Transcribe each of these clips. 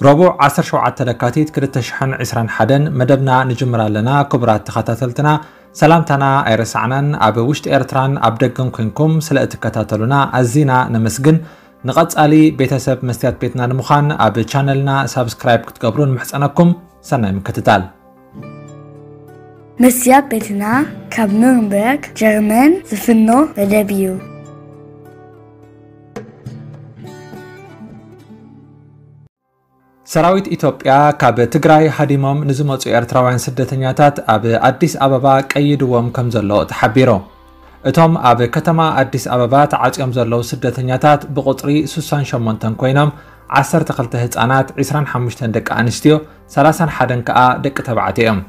ረቡዕ ዓሰርተ ሸውዓተ ለካቲት ክልተ ሽሕን ዕስራን ሓደን መደብና ንጅምር ኣለና። ክቡራት ተኸታተልትና፣ ሰላምታና ኣይረሳዕናን። ኣብ ውሽጢ ኤርትራን ኣብ ደገን ኮንኩም ስለ እትከታተሉና ኣዚና ነመስግን። ንቐጻሊ ቤተሰብ መስትያት ቤትና ንምዃን ኣብ ቻነልና ሳብስክራይብ ክትገብሩ ንምሕጸነኩም። ሰናይ ምክትታል። መስትያት ቤትና ካብ ኑርንበርግ ጀርመን ዝፍኖ መደብ እዩ። ሰራዊት ኢትዮጵያ ካብ ትግራይ ሃዲሞም ንዝመጹ ኤርትራውያን ስደተኛታት ኣብ ኣዲስ ኣበባ ቀይድዎም ከም ዘሎ ተሓቢሩ። እቶም ኣብ ከተማ ኣዲስ ኣበባ ተዓጽዮም ዘለዉ ስደተኛታት ብቁጽሪ ስሳን ሸሞንተን ኮይኖም፣ ዓሰርተ ክልተ ህጻናት፣ ዕስራን ሓሙሽተን ደቂ ኣንስትዮ፣ ሰላሳን ሓደን ከኣ ደቂ ተባዕትዮ እዮም።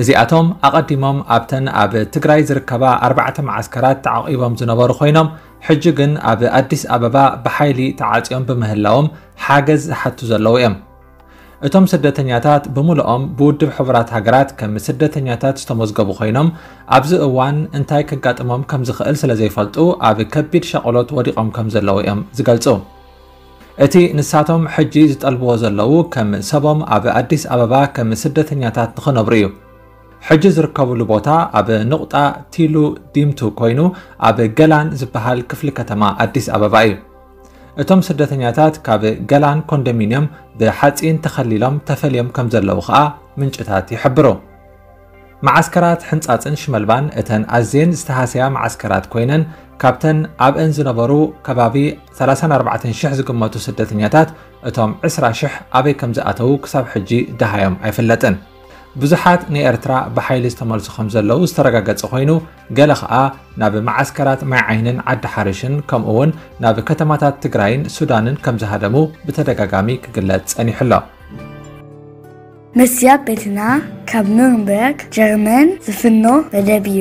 እዚኣቶም ኣቐዲሞም ኣብተን ኣብ ትግራይ ዝርከባ ኣርባዕተ መዓስከራት ተዓቒቦም ዝነበሩ ኮይኖም፣ ሕጂ ግን ኣብ ኣዲስ ኣበባ ብሓይሊ ተዓጽዮም ብምህላዎም ሓገዝ ዝሓቱ ዘለዉ እዮም። እቶም ስደተኛታት ብምልኦም ብውድብ ሕቡራት ሃገራት ከም ስደተኛታት ዝተመዝገቡ ኮይኖም፣ ኣብዚ እዋን እንታይ ከጋጥሞም ከም ዝኽእል ስለ ዘይፈልጡ ኣብ ከቢድ ሻቕሎት ወዲቖም ከም ዘለዉ እዮም ዝገልጹ። እቲ ንሳቶም ሕጂ ዝጠልብዎ ዘለዉ ከም ሰቦም ኣብ ኣዲስ ኣበባ ከም ስደተኛታት ንኽነብሩ እዩ። ሕጂ ዝርከብሉ ቦታ ኣብ ንቑጣ ቲሉ ዲምቱ ኮይኑ ኣብ ገላን ዝበሃል ክፍሊ ከተማ ኣዲስ ኣበባ እዩ። እቶም ስደተኛታት ካብ ገላን ኮንዶሚንየም ብሓጺን ተኸሊሎም ተፈልዮም ከም ዘለዉ ኸኣ ምንጭታት ይሕብሩ። መዓስከራት ሕንጻጽን ሽመልባን እተን ኣዝየን ዝተሃስያ መዓስከራት ኮይነን፣ ካብተን ኣብአን ዝነበሩ ከባቢ ሰላሳን ኣርባዕተን ሽሕ ዝግመቱ ስደተኛታት፣ እቶም ዕስራ ሽሕ ኣበይ ከም ዝኣተዉ ክሳብ ሕጂ ደሃዮም ኣይፍለጥን። ብዙሓት ንኤርትራ ብሓይሊ ዝተመልሱ ከም ዘለዉ ዝተረጋገጸ ኮይኑ፣ ገለ ኸኣ ናብ መዓስከራት ማይ ዓይንን ዓዲ ሓርሽን፣ ከምኡ'ውን ናብ ከተማታት ትግራይን ሱዳንን ከም ዝሃደሙ ብተደጋጋሚ ክግለጽ ጸኒሑ ኣሎ። መስትያት ቤትና ካብ ኑርንበርግ ጀርመን ዝፍኖ መደብ እዩ።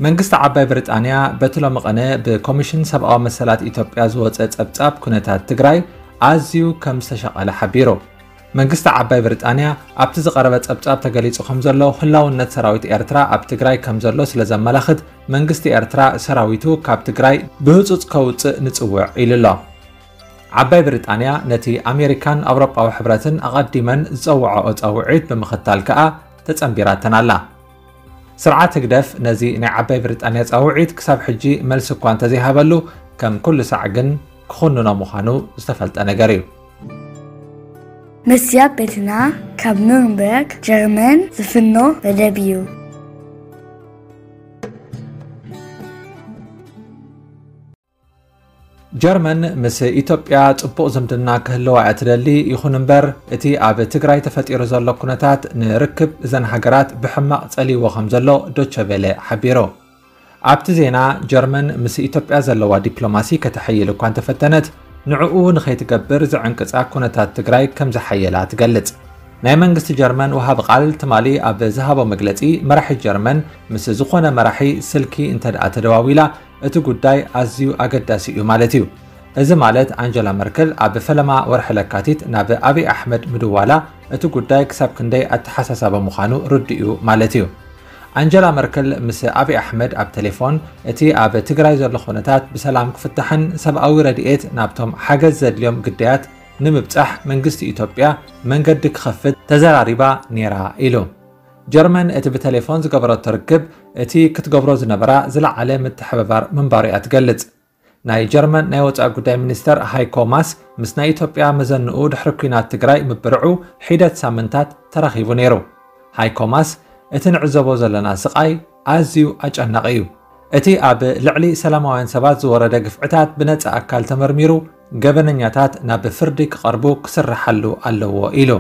መንግስቲ ዓባይ ብሪጣንያ በቲ ሎሚ ቐነ ብኮሚሽን ሰብኣዊ መሰላት ኢትዮጵያ ዝወጸ ጸብጻብ ኩነታት ትግራይ ኣዝዩ ከም ዝተሸቐለ ሓቢሩ። መንግስቲ ዓባይ ብሪጣንያ ኣብቲ ዝቐረበ ጸብጻብ ተገሊጹ ከም ዘሎ፣ ህላውነት ሰራዊት ኤርትራ ኣብ ትግራይ ከም ዘሎ ስለ ዘመላኽት፣ መንግስቲ ኤርትራ ሰራዊቱ ካብ ትግራይ ብህጹጽ ከውጽእ ንጽውዕ ኢሉ ኣሎ። ዓባይ ብሪጣንያ ነቲ ኣሜሪካን ኣውሮጳዊ ሕብረትን ኣቐዲመን ዝጸውዓኦ ጻውዒት ብምኽታል ከኣ ተጸንቢራተን ኣላ። ስርዓት ህግደፍ ነዚ ናይ ዓባይ ብሪጣንያ ጻውዒት ክሳብ ሕጂ መልሲ እኳ እንተዘይሃበሉ፣ ከም ኩሉ ሳዕ ግን ክኹንኖ ምዃኑ ዝተፈልጠ ነገር እዩ። መስትያት ቤትና ካብ ኑርንበርግ ጀርመን ዝፍኖ መደብ እዩ። ጀርመን ምስ ኢትዮጵያ ጽቡቕ ዝምድና ክህልዋ እያ ትደሊ። ይኹን እምበር፣ እቲ ኣብ ትግራይ ተፈጢሩ ዘሎ ኩነታት ንርክብ እዘን ሃገራት ብሕማቕ ጸልይዎ ከም ዘሎ ዶቸ ቬለ ሓቢሩ። ኣብቲ ዜና፣ ጀርመን ምስ ኢትዮጵያ ዘለዋ ዲፕሎማሲ ከተሐይል እኳ እንተፈተነት፣ ንዕኡ ንኸይትገብር ዝዕንቅጻ ኩነታት ትግራይ ከም ዝሓየላ ትገልጽ። ናይ መንግስቲ ጀርመን ወሃቢ ቃል ትማሊ ኣብ ዝሃቦ መግለጺ፣ መራሒ ጀርመን ምስ ዝኾነ መራሒ ስልኪ እንተደኣ ተደዋዊላ፣ እቲ ጉዳይ ኣዝዩ ኣገዳሲ እዩ ማለት እዩ። እዚ ማለት፣ ኣንጀላ መርክል ኣብ ፈለማ ወርሒ ለካቲት ናብ ኣብይ ኣሕመድ ምድዋላ፣ እቲ ጉዳይ ክሳብ ክንደይ ኣተሓሳሳቢ ምዃኑ ርዱእ እዩ ማለት እዩ። ኣንጀላ መርክል ምስ ኣብይ ኣሕመድ ኣብ ቴሌፎን፣ እቲ ኣብ ትግራይ ዘሎ ኩነታት ብሰላም ክፍታሕን ሰብኣዊ ረድኤት ናብቶም ሓገዝ ዘድልዮም ግዳያት ንምብጻሕ መንግስቲ ኢትዮጵያ መንገዲ ክኸፍት ተዘራሪባ ነይራ ኢሉ። ጀርመን እቲ ብቴሌፎን ዝገበረቶ ርክብ፣ እቲ ክትገብሮ ዝነበራ ዝለዓለ ምትሕብባር ምንባሩ እያ ትገልጽ። ናይ ጀርመን ናይ ወጻኢ ጉዳይ ሚኒስተር ሃይኮ ማስ ምስ ናይ ኢትዮጵያ መዘንኡ ድሕሪ ኲናት ትግራይ ምብርዑ ሒደት ሳምንታት ተራኺቡ ነይሩ። ሃይኮ ማስ፣ "እቲ ንዕዘቦ ዘለና ስቓይ ኣዝዩ ኣጨናቒ እዩ። እቲ ኣብ ልዕሊ ሰላማውያን ሰባት ዝወረደ ግፍዕታት ብነጻ ኣካል ተመርሚሩ፣ ገበነኛታት ናብ ፍርዲ ክቐርቡ ክስርሓሉ ኣለዎ" ኢሉ።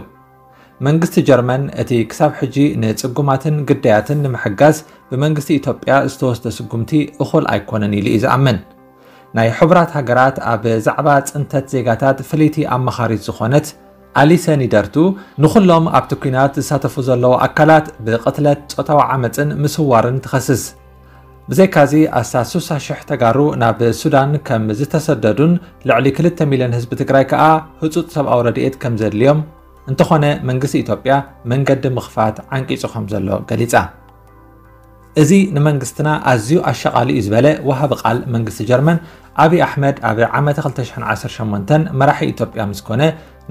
መንግስቲ ጀርመን፣ እቲ ክሳብ ሕጂ ንጽጉማትን ግዳያትን ንምሕጋዝ ብመንግስቲ ኢትዮጵያ ዝተወስደ ስጉምቲ እኹል ኣይኮነን ኢሉ እዩ ዝኣምን። ናይ ሕቡራት ሃገራት ኣብ ዛዕባ ጽንተት ዜጋታት ፍልይቲ ኣማኻሪት ዝኾነት ኣሊሰ ኒደርቱ፣ ንኹሎም ኣብቲ ኲናት ዝሳተፉ ዘለዉ ኣካላት ብቕትለት፣ ጾታዊ ዓመጽን ምስዋርን ትኸስስ። ብዘይካዚ፣ ኣስታት ስሳ ሽሕ ተጋሩ ናብ ሱዳን ከም ዝተሰደዱን ልዕሊ ክልተ ሚልዮን ህዝቢ ትግራይ ከኣ ህጹጽ ሰብኣዊ ረድኤት ከም ዘድልዮም፣ እንተኾነ መንግስቲ ኢትዮጵያ መንገዲ ምኽፋት ዓንቂጹ ከም ዘሎ ገሊጻ። እዚ ንመንግስትና ኣዝዩ ኣሻቓሊ እዩ ዝበለ ወሃቢ ቃል መንግስቲ ጀርመን ኣብይ ኣሕመድ፣ ኣብ ዓመተ ክልተ ሽሕን ዓሰርተ ሸሞንተን መራሒ ኢትዮጵያ ምስ ኮነ፣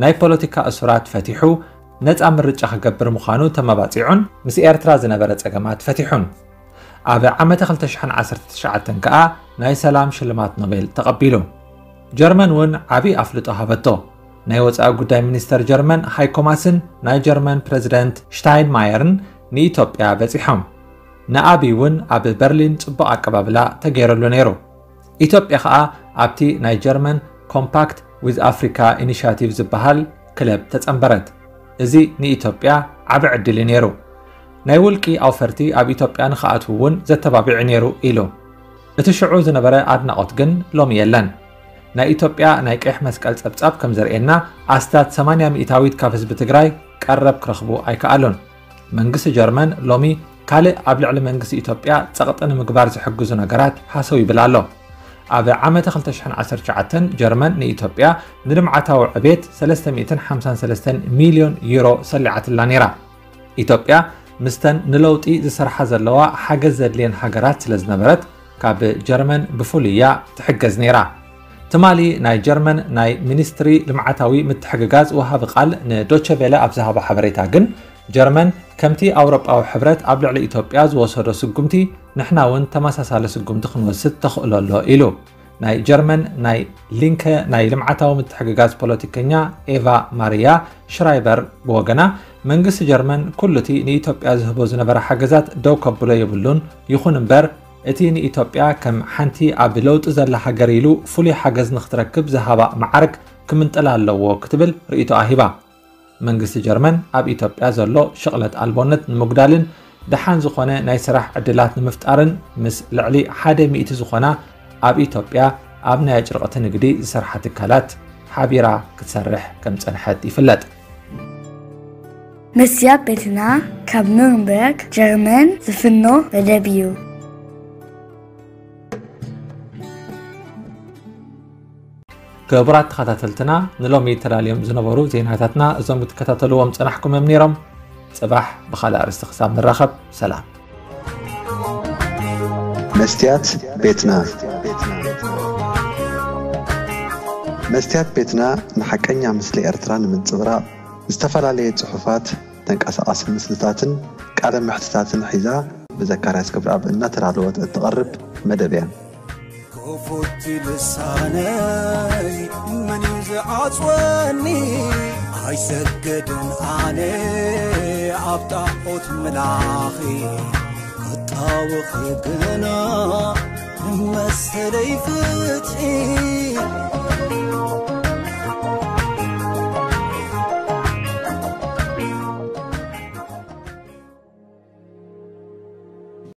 ናይ ፖለቲካ እሱራት ፈቲሑ፣ ነጻ ምርጫ ክገብር ምዃኑ ተመባጺዑን፣ ምስ ኤርትራ ዝነበረ ጸገማት ፈቲሑን። ኣብ ዓመተ ክልተ ሽሕን ዓሰርተ ትሽዓተን ከኣ ናይ ሰላም ሽልማት ኖቤል ተቐቢሉ። ጀርመን እውን ዓቢ ኣፍልጦ ሃበቶ። ናይ ወጻኢ ጉዳይ ሚኒስተር ጀርመን ሃይኮ ማስን ናይ ጀርመን ፕረዚደንት ሽታይንማየርን ንኢትዮጵያ በጺሖም። ንኣብይ እውን ኣብ በርሊን ጽቡቕ ኣቀባብላ ተገይረሉ ነይሩ። ኢትዮጵያ ኸኣ ኣብቲ ናይ ጀርመን ኮምፓክት ዊዝ ኣፍሪካ ኢኒሽያቲቭ ዝበሃል ክለብ ተጸንበረት። እዚ ንኢትዮጵያ ዓቢ ዕድል እዩ ነይሩ። ናይ ውልቂ ኣውፈርቲ ኣብ ኢትዮጵያ ንኽኣትዉ እውን ዘተባቢዑ ነይሩ ኢሉ። እቲ ሽዑ ዝነበረ ኣድናቖት ግን ሎሚ የለን። ናይ ኢትዮጵያ ናይ ቀይሕ መስቀል ጸብጻብ ከም ዘርእየና ኣስታት ሰማንያ ሚእታዊት ካብ ህዝቢ ትግራይ ቀረብ ክረኽቡ ኣይከኣሉን። መንግስቲ ጀርመን ሎሚ ካልእ ኣብ ልዕሊ መንግስቲ ኢትዮጵያ ጸቕጢ ንምግባር ዝሕግዙ ነገራት ሃሰው ይብል ኣሎ። ኣብ ዓመተ ክልተ ሽሕን ዓሰርተ ትሽዓተን ጀርመን ንኢትዮጵያ ንልምዓታዊ ዕቤት ሰለስተ ሚእትን ሓምሳን ሰለስተን ሚልዮን ዩሮ ሰሊዓትላ ነይራ። ኢትዮጵያ ምስተን ንለውጢ ዝሰርሓ ዘለዋ ሓገዝ ዘድልየን ሃገራት ስለ ዝነበረት ካብ ጀርመን ብፍሉይ እያ ትሕገዝ ነይራ። ትማሊ ናይ ጀርመን ናይ ሚኒስትሪ ልምዓታዊ ምትሕግጋዝ ወሃቢ ቃል ንዶቸ ቬለ ኣብ ዝሃቦ ሓበሬታ ግን ጀርመን ከምቲ ኣውሮጳዊ ሕብረት ኣብ ልዕሊ ኢትዮጵያ ዝወሰዶ ስጉምቲ ንሕና እውን ተመሳሳሊ ስጉምቲ ክንወስድ ተኽእሎ ኣሎ ኢሉ። ናይ ጀርመን ናይ ሊንከ ናይ ልምዓታዊ ምትሕግጋዝ ፖለቲከኛ ኤቫ ማርያ ሽራይበር ብወገና መንግስቲ ጀርመን ኩሉ እቲ ንኢትዮጵያ ዝህቦ ዝነበረ ሓገዛት ደው ከብሎ የብሉን፣ ይኹን እምበር እቲ ንኢትዮጵያ ከም ሓንቲ ኣብ ለውጢ ዘላ ሃገር ኢሉ ፍሉይ ሓገዝ ንክትረክብ ዝሃባ መዓርግ ክምንጥላ ኣለዎ ክትብል ርእይቶኣ ሂባ። መንግስቲ ጀርመን ኣብ ኢትዮጵያ ዘሎ ሽቕለት ኣልቦነት ንምጉዳልን ደሓን ዝኾነ ናይ ስራሕ ዕድላት ንምፍጣርን ምስ ልዕሊ ሓደ ሚእቲ ዝኾና ኣብ ኢትዮጵያ ኣብ ናይ ኣጭርቕቲ ንግዲ ዝሰርሓ ትካላት ሓቢራ ክትሰርሕ ከም ዝጸንሐት ይፍለጥ። መስትያት ቤትና ካብ ኑርንበርግ ጀርመን ዝፍኖ መደብ እዩ። ክቡራት ተኸታተልትና፣ ንሎሚ ተዳልዮም ዝነበሩ ዜናታትና እዞም ክትከታተልዎም ጸናሕኩም እዮም ነይሮም። ጽባሕ ብኻልእ ኣርእስቲ ክሳብ ንራኸብ፣ ሰላም። መስትያት ቤትና። መስትያት ቤትና ንሓቀኛ ምስሊ ኤርትራ ንምንጽብራቕ ዝተፈላለየ ጽሑፋት፣ ተንቀሳቓሲ ምስልታትን ቃለ መሕትታትን ሒዛ ብዘካርያስ ገብረኣብ እናተዳለወት እትቐርብ መደብ እያ። ክፉት ልሳነይ መን እዩ ዝዓጽወኒ? ኣይሰግድን ኣነ ኣብ ጣዖት ምላኺ፣ ክጣወኺ ግና መሰለይ ፍትሒ።